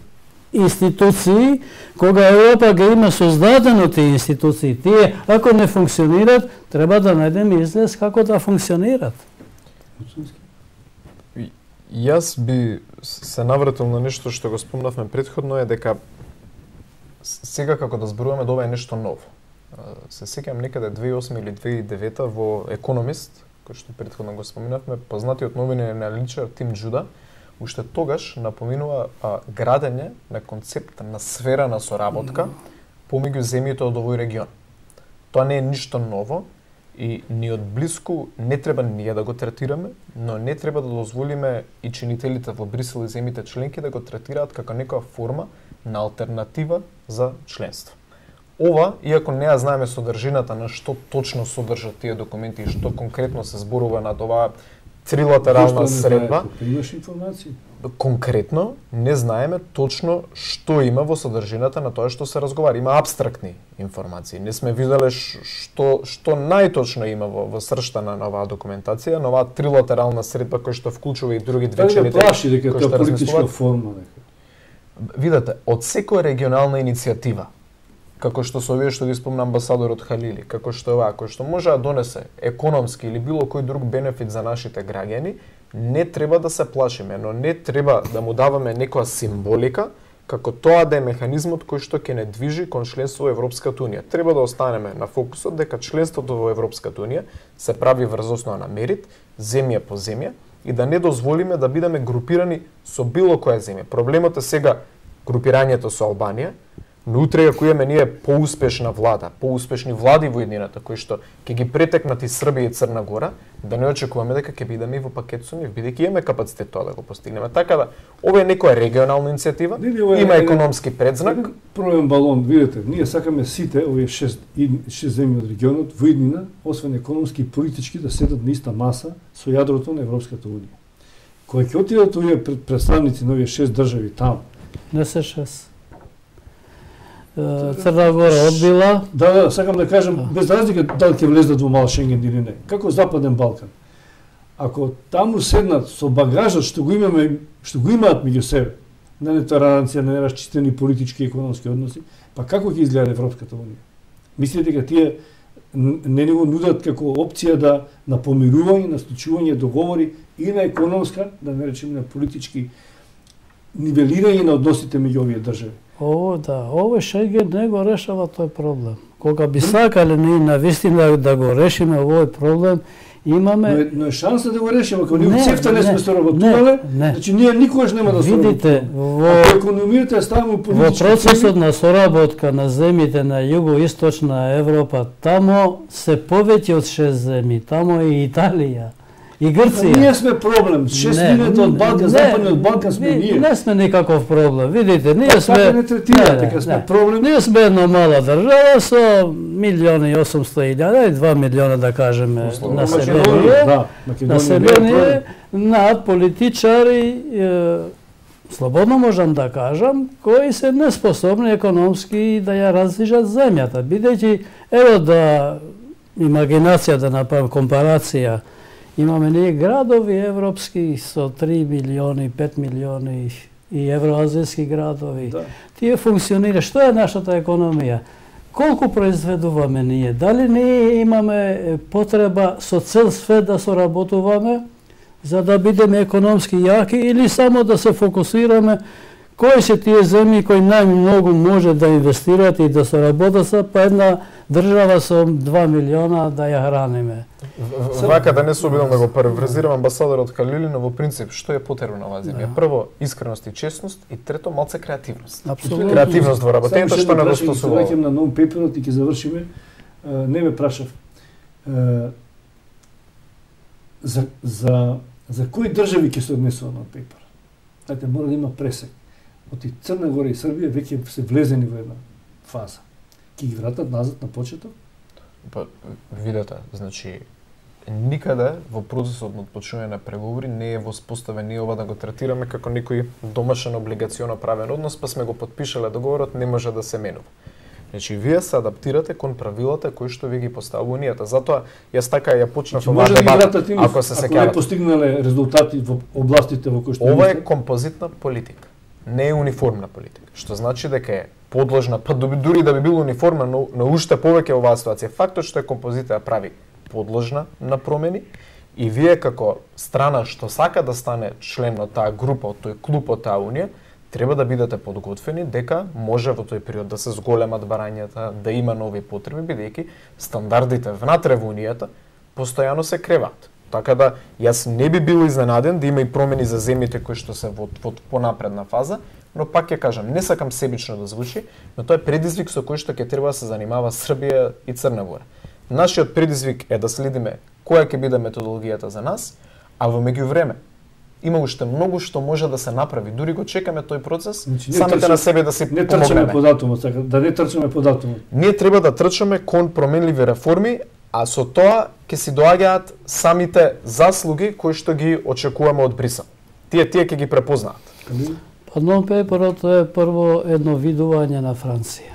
институции, кога Европа ги има создадено тие институции. Тие, ако не функционират, треба да најдеме излез како да функционират. Јас би се навратил на нешто што го спомнавме претходно, е дека сега како да зборуваме да ова е нешто ново. Се сеќавам некаде 2008 или 2009 во Економист, кој што претходно го споминавме, познатиот новинар на Личар Тим Джуда, уште тогаш напоминува градење на концепт на сфера на соработка помеѓу земјите од овој регион. Тоа не е ништо ново и ни од блиску не треба ние да го третираме, но не треба да дозволиме и чинителите во Брисел и земјите членки да го третираат како некоја форма на алтернатива за членство. Ова, иако не ја знаеме содржината на што точно содржат тие документи и што конкретно се зборува над оваа трилатерална средба, имаш информации? Конкретно не знаеме точно што има во содржината на тоа што се разговара. Има апстрактни информации. Не сме виделе што најточно има во срштана на оваа документација, на оваа трилатерална средба која што вклучува и други две члените. Плаши дека тоа политичка форма нека. Видете, од секоја регионална иницијатива, како што се овие што ги спомна амбасадорот Халили, како што оваа, кој што може да донесе економски или било кој друг бенефит за нашите граѓани, не треба да се плашиме, но не треба да му даваме некоја символика, како тоа да е механизмот кој што ќе не движи кон членство во Европската Унија. Треба да останеме на фокусот дека членството во Европската Унија се прави врз основа на мерит, земја по земја, и да не дозволиме да бидеме групирани со било која земја. Проблемот е сега групирањето со Албанија, но утре ако имаме ние поуспешна влада, поуспешни влади во еднината кои што ќе ги претекнат и Србија и Црна Гора, да не очекуваме дека ќе бидеме и во пакет со нив, бидејќи имаме капацитет тоа да го постигнеме. Така да, ова е некоја регионална иницијатива, има економски предзнак. Проблем балон, видите, ние сакаме сите овие шест земји од регионот во иднина, освен економски и политички, да седат на иста маса со јадрото на Европската Унија. Кога ќе отидат овие представници на овие шест држави таму, не се шест. Црна Гора одбила. Да, сакам да кажам, без разлика дали ќе влезат во мал Шенген или не. Како Западен Балкан. Ако таму седнат со багажот што го имаат меѓу себе, на нетолеранција, на неразчистени политички и економски односи, па како ќе изгледа Европската Унија? Мислите дека тие не го нудат како опција да на помирување, на склучување договори и на економска, да не речеме на политички нивелирање на односите меѓу овие држави. Овој Шенген не го решава тој проблем. Кога би сакале ние навистина да го решиме овој проблем, имаме... Но е шанса да го решиме, ако ние цефта не сме соработувале, значи ние никогаш нема да соработуваме. Видите, ако економијата ставаме политички... Во процесот на соработка на земите на југо-источна Европа, тамо се повеќе од 6 земји, тамо и Италија. И Грција. Ние сме проблем. 6 милиони од Балкан, западниот Балкан сме ние. Не сме никаков проблем. Видите, ние сме... Така не третира, така сме проблем. Ние сме една мала држава со 1.800.000 и 2 милиона, да кажеме, население на политичари, слободно можам да кажам, кои се неспособни економски да ја раздвижат земјата. Бидејќи, ево да имагинација да направам компарација, имаме ние градови европски со 3 милиони, 5 милиони и евроазијски градови. Да. Тие функционира. Што е нашата економија? Колку произведуваме ние? Дали ние имаме потреба со цел свет да соработуваме за да бидеме економски јаки или само да се фокусираме кои се тие земји кои најмногу може да инвестираат и да соработат со па една држава со 2 милиона да ја храниме. Вака да не се обидам да го парафразирам амбасадорот Халилина, во принцип што е потребно на оваа земја? Прво искреност и честност и трето малце креативност. Апсолутно. Креативност во работењето што недостасува. Ќе на non-paperот и ќе завршиме. Не ме прашав за кои држави ќе се однесува non-paper. Знаете, мора да има пресек. Од Црна Гора и Србија веќе се влезени во една фаза. Ќе ги вратат назад на почеток? Па, видете, значи, никаде во процесот на отпочнување на преговори не е воспоставен ние ова да го третираме како некој домашен облигационо правен однос, па сме го потпишале договорот, не може да се менува. Значи, вие се адаптирате кон правилата кои што ви ги поставува унијата. Затоа јас така ја почнав оваа дебата, ако се сеќавате. Ако не постигнале резултати во областите во кои што ова е композитна политика, не е униформна политика, што значи дека е подложна, па дури да би било униформа, но уште повеќе оваа ситуација. Фактот што е композитија прави подложна на промени и вие како страна што сака да стане член од таа група, од тој клуб, од таа унија, треба да бидете подготвени дека може во тој период да се зголемат барањата, да има нови потреби, бидејќи стандардите внатре во унијата постојано се креваат. Така да јас не би бил изненаден да има и промени за земјите кои што се во понапредна фаза, но пак ќе кажам, не сакам себично да звучи, но тоа е предизвик со кој што ќе треба да се занимава Србија и Црна Гора. Нашиот предизвик е да следиме која ќе биде методологијата за нас, а во меѓувреме има уште многу што може да се направи. Дури го чекаме тој процес, самите на себе да се помогнеме. Не трчаме по датумот, да не трчаме по датумот. Ние треба да трчаме кон променливи реформи, а со тоа ќе си доаѓаат самите заслуги кои што ги очекуваме од Брисел. Тие ќе ги препознаат. Па non-paperот е прво едно видување на Франција.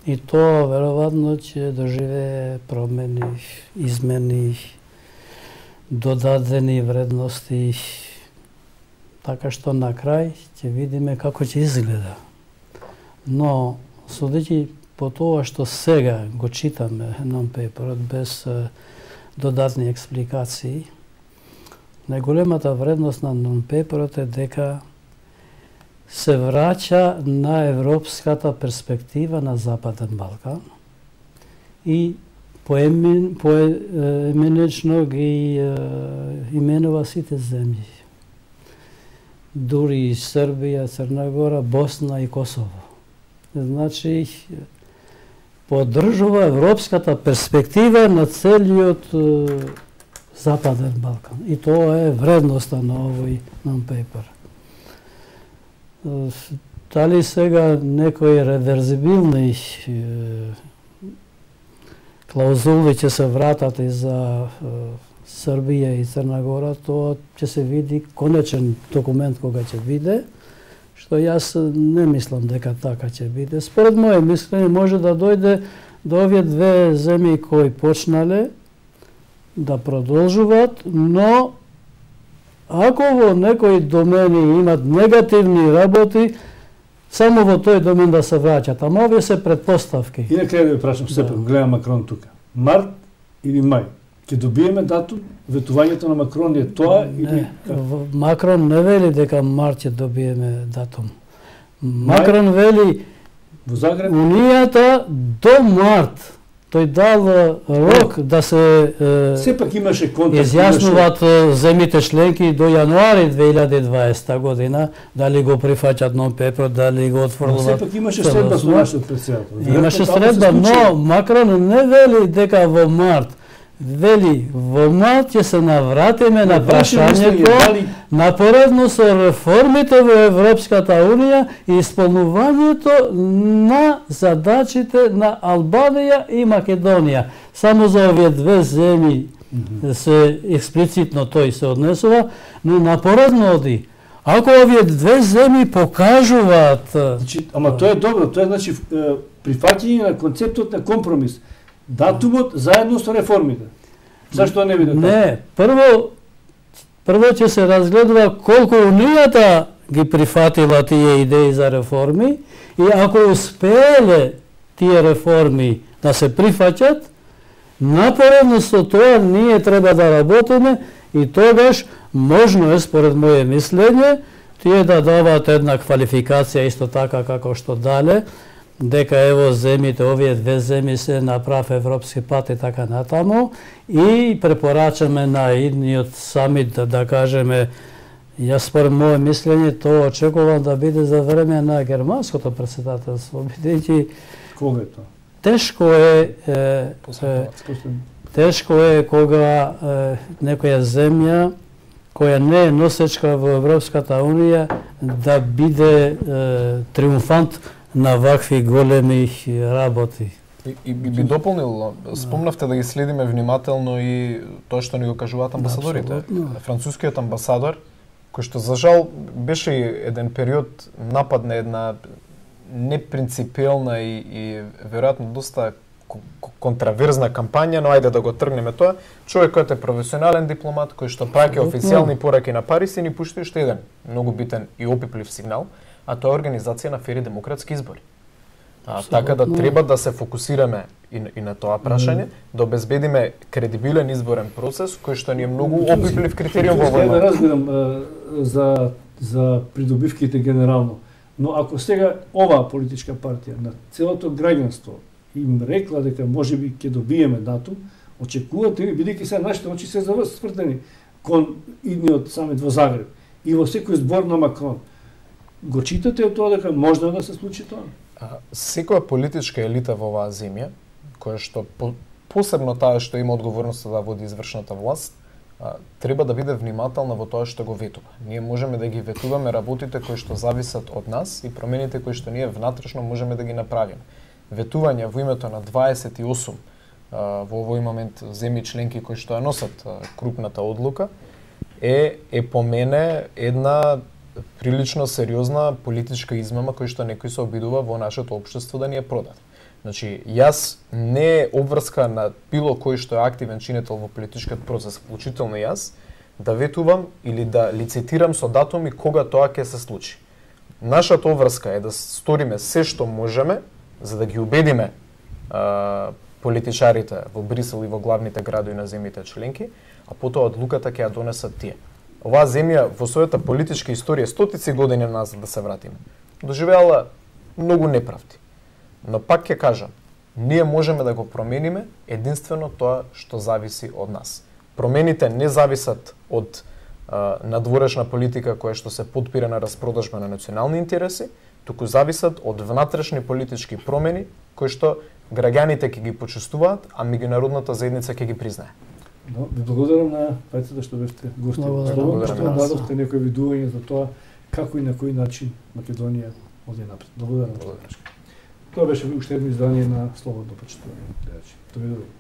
И тоа веројатно ќе доживее промени, измени, додадени вредности, така што на крај ќе видиме како ќе изгледа. Но, судејќи по тоа што сега го читаме non-paperот без додатни експликации, најголемата вредност на non-paperot е дека се враќа на европската перспектива на Западен Балкан и поеменечно ги именува сите земји. Дури и Србија, Црна Гора, Босна и Косово. Значи, поддржува европската перспектива на целиот Западен Балкан. И тоа е вредноста на овој non-paper. Дали сега некои реверзибилни клаузули ќе се вратат и за Србија и Црна Гора, тоа ќе се види конечен документ кога ќе биде, што јас не мислам дека така ќе биде. Според моје мислење може да дојде до овие две земји кои почнале да продолжуваат, но ако во некои домени имат негативни работи, само во тој домен да се враќат. Ама овие се предпоставки. И на крај да ви прашам сепак, гледам Макрон тука. Март или мај? Ќе добиеме датум? Ветувањето на Макрон е тоа или... Макрон не вели дека март ќе добиеме датум. Макрон вели во Загреб Унијата до март тој дал рок да се сепак имаше контакт, изјаснуваат земите членки до јануари 2020 година, дали го прифаќат нон-пейпер, дали го отфрлуваат. Сепак имаше средба со нашиот председател. Имаше средба, но Макрон не вели дека во март. Вели, во март ќе се навратиме на прашањето напоредно со реформите во Европската Унија и исполнувањето на задачите на Албанија и Македонија. Само за овие две земји се експлицитно тој се однесува, но напоредно оди. Ако овие две земји покажуваат... Значи, ама тоа е добро, тоа е значи прифаќање на концептот на компромис. Датумот заедно со реформите. Зашто не биде така? Не, прво ќе се разгледува колку Унијата ги прифатила тие идеи за реформи и ако успееле тие реформи да се прифаќат, напоредно со тоа ние треба да работиме и тогаш можно е, според моје мислење, тие да даваат една квалификација исто така како што дале, дека ево земите, овие две земји се на прав европски пат и така натаму и препорачаме на идниот самит да кажеме, јас според моје мислење тоа очекувам да биде за време на германското претседателство, бидејќи кога е тоа? Тешко е кога некоја земја која не е носечка во Европската Унија да биде триумфант на вакви големи работи. И би дополнил, спомнавте да ги следиме внимателно и тоа што ни го кажуваат амбасадорите. Францускиот амбасадор, кој што за жал беше еден период напад на една непринципиелна и веројатно доста контраверзна кампања, но ајде да го тргнеме тоа. Човекот е професионален дипломат кој што праќа официјални пораки на Париз и ни пушти уште еден многу битен и опиплив сигнал, а тоа е организација на фери демократски избори. Така да треба да се фокусираме и на тоа прашање, да обезбедиме кредибилен изборен процес кој што ни е многу опиплив критериум во овој момент. Разбирам за придобивките генерално, но ако сега оваа политичка партија на целото граѓанство им рекла дека можеби ќе добиеме датум, очекувате ви, бидејќи се нашите очи се свртени кон идниот самит во Загреб и во секој збор на Макрон. Го читате од тоа дека можно да се случи тоа? Секоја политичка елита во оваа земја, која што посебно таа што има одговорноста да води извршната власт, треба да биде внимателна во тоа што го ветува. Ние можеме да ги ветуваме работите кои што зависат од нас и промените кои што ние внатрешно можеме да ги направиме. Ветување во името на 28 во овој момент земји членки кои што ја носат крупната одлука е по мене една прилично сериозна политичка измама која што некој се обидува во нашето општество да ни ја продаде. Значи, јас не е обврска на било кој што е активен чинител во политичкиот процес, вклучително јас, да ветувам или да лицитирам со датуми кога тоа ќе се случи. Нашата обврска е да сториме се што можеме за да ги убедиме политичарите во Брисел и во главните градови на земјите членки, а потоа одлуката ќе ја донесат тие. Оваа земја во својата политичка историја стотици години назад да се вратиме, доживеала многу неправди. Но пак ќе кажам, ние можеме да го промениме единствено тоа што зависи од нас. Промените не зависат од надворешна политика која што се потпира на распродажба на национални интереси, туку зависат од внатрешни политички промени кои што граѓаните ќе ги почувствуваат, а меѓународната заедница ќе ги признае. Ви благодарам на двајцата што бевте гости. Благодарам што дадовте некои видување за тоа како и на кој начин Македонија оди напред. Благодарам. Тоа беше уште едно издание на Слободно почитување. Довидување.